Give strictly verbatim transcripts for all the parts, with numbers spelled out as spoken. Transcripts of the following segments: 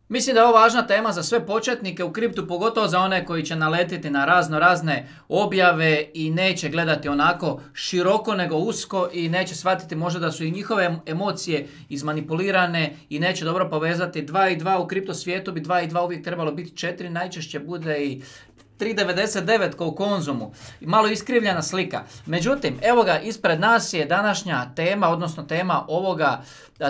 Mislim da je ovo važna tema za sve početnike u kriptu, pogotovo za one koji će naletiti na razno razne objave i neće gledati onako široko nego usko i neće shvatiti možda da su i njihove emocije izmanipulirane i neće dobro povezati dva i dva u kripto svijetu, bi dva i dva uvijek trebalo biti četiri, najčešće bude i tri devedeset devet kao u Konzumu. Malo iskrivljena slika. Međutim, evo ga, ispred nas je današnja tema, odnosno tema ovoga,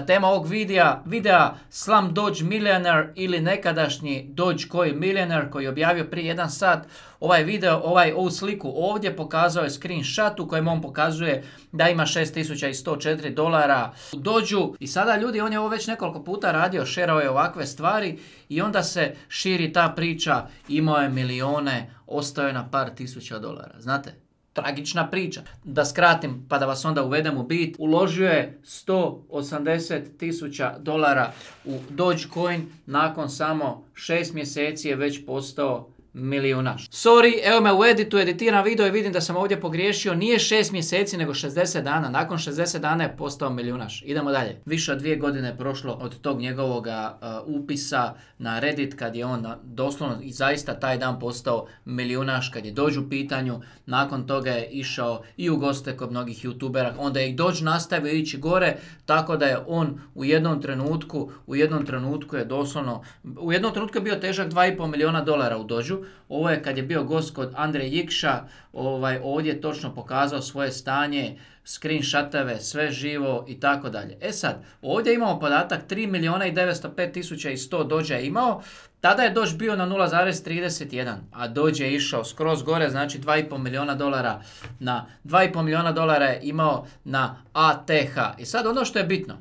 tema ovog videa, videa Slumdog Millionaire ili nekadašnji Dogecoin Millionaire koji je objavio prije jedan sat. Ovaj video, ovaj, ovu sliku ovdje pokazao je screenshot u kojem on pokazuje da ima šest tisuća sto četiri dolara u Dođu. I sada ljudi, on je ovo već nekoliko puta radio, šerao je ovakve stvari i onda se širi ta priča, imao je milione, ostao je na par tisuća dolara. Znate? Tragična priča. Da skratim pa da vas onda uvedem u bit. Uložio je sto osamdeset tisuća dolara u Dogecoin, nakon samo šest mjeseci je već postao milijunaš. Sorry, evo me u editu, editiram video i vidim da sam ovdje pogriješio. Nije šest mjeseci nego šezdeset dana. Nakon šezdeset dana je postao milijunaš. Idemo dalje. Više od dvije godine je prošlo od tog njegovog uh, upisa na Reddit kad je on doslovno i zaista taj dan postao milijunaš, kad je Doge u pitanju. Nakon toga je išao i u goste kod mnogih youtubera. Onda je i Doge nastavio ići gore, tako da je on u jednom trenutku, u jednom trenutku je doslovno, u jednom trenutku je bio težak dva i pol milijuna dolara u Dođu. Ovo je kad je bio gost kod Andre Jikša, ovaj, ovdje je točno pokazao svoje stanje, screenshotove, sve živo i tako dalje. E sad, ovdje imamo podatak tri milijuna i devetsto pet tisuća sto Doge je imao, tada je Doge bio na nula zarez trideset jedan, a Doge je išao skroz gore, znači dva i pol milijuna dolara na dva i pol milijuna dolara je imao na A T H. I sad ono što je bitno,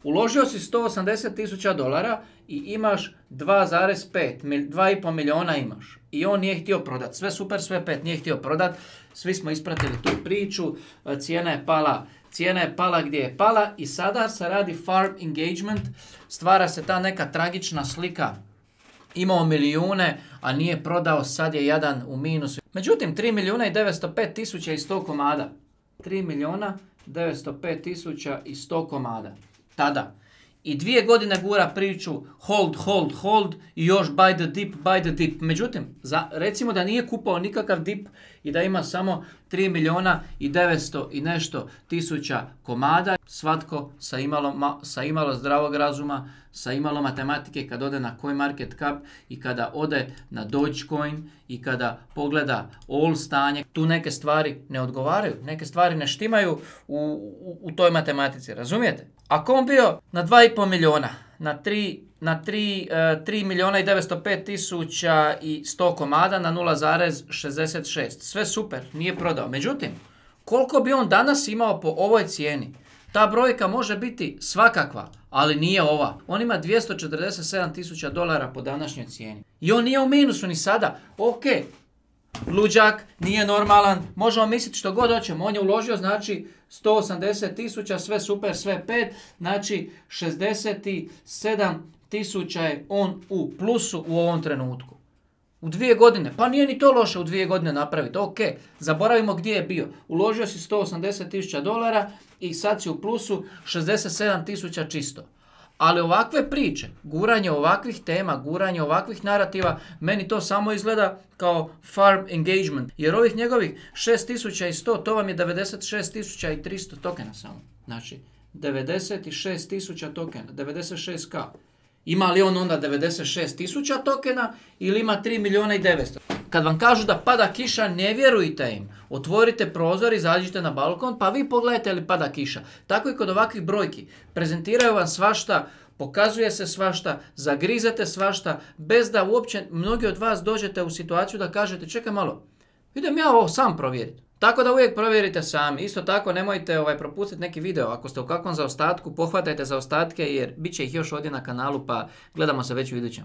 uložio si sto osamdeset tisuća dolara i imaš dva zarez pet, dva i pol milijuna imaš. I on nije htio prodati. Sve super, sve pet, nije htio prodati. Svi smo ispratili tu priču. Cijena je pala. Cijena je pala gdje je pala i sada se radi farm engagement. Stvara se ta neka tragična slika. Imao milijune, a nije prodao, sad je jadan u minusu. Međutim, tri milijuna i devetsto pet tisuća sto komada. tri milijuna devetsto pet tisuća sto komada. Tada. I dvije godine gura priču hold, hold, hold i još buy the dip, buy the dip. Međutim, za, recimo da nije kupao nikakav dip i da ima samo tri milijuna i devetsto i nešto tisuća komada, svatko sa imalo, ma, sa imalo zdravog razuma, sa imalo matematike, kad ode na CoinMarketCap i kada ode na Dogecoin i kada pogleda all stanje, tu neke stvari ne odgovaraju, neke stvari ne štimaju u, u, u toj matematici, razumijete? Ako on bio na dva i pol milijuna, na tri, na tri, uh, tri milijuna i devetsto pet tisuća sto komada na nula zarez šezdeset šest, sve super, nije prodao. Međutim, koliko bi on danas imao po ovoj cijeni? Ta brojka može biti svakakva, ali nije ova. On ima dvjesto četrdeset sedam tisuća dolara po današnjoj cijeni. I on nije u minusu ni sada. Ok, luđak, nije normalan, možemo misliti što god hoćemo. On je uložio, znači, sto osamdeset tisuća, sve super, sve pet, znači šezdeset sedam tisuća je on u plusu u ovom trenutku. U dvije godine, pa nije ni to loše u dvije godine napraviti, ok, zaboravimo gdje je bio. Uložio si sto osamdeset tisuća dolara i sad si u plusu šezdeset sedam tisuća čisto. Ali ovakve priče, guranje ovakvih tema, guranje ovakvih narativa, meni to samo izgleda kao farm engagement. Jer ovih njegovih šest tisuća sto, to vam je devedeset šest tisuća tristo tokena samo. Znači, devedeset šest tisuća tokena, devedeset šest ka. Ima li on onda devedeset šest tisuća tokena ili ima tri milijuna i devetsto? Kad vam kažu da pada kiša, ne vjerujte im. Otvorite prozor, izađite na balkon, pa vi pogledajte li pada kiša. Tako i kod ovakvih brojki. Prezentiraju vam svašta, pokazuje se svašta, zagrizete svašta, bez da uopće mnogi od vas dođete u situaciju da kažete čekaj malo, idem ja ovo sam provjeriti. Tako da uvijek provjerite sami. Isto tako nemojte ovaj, propustiti neki video. Ako ste u kakvom zaostatku, pohvatajte zaostatke jer bit će ih još ovdje na kanalu, pa gledamo se već u idućem.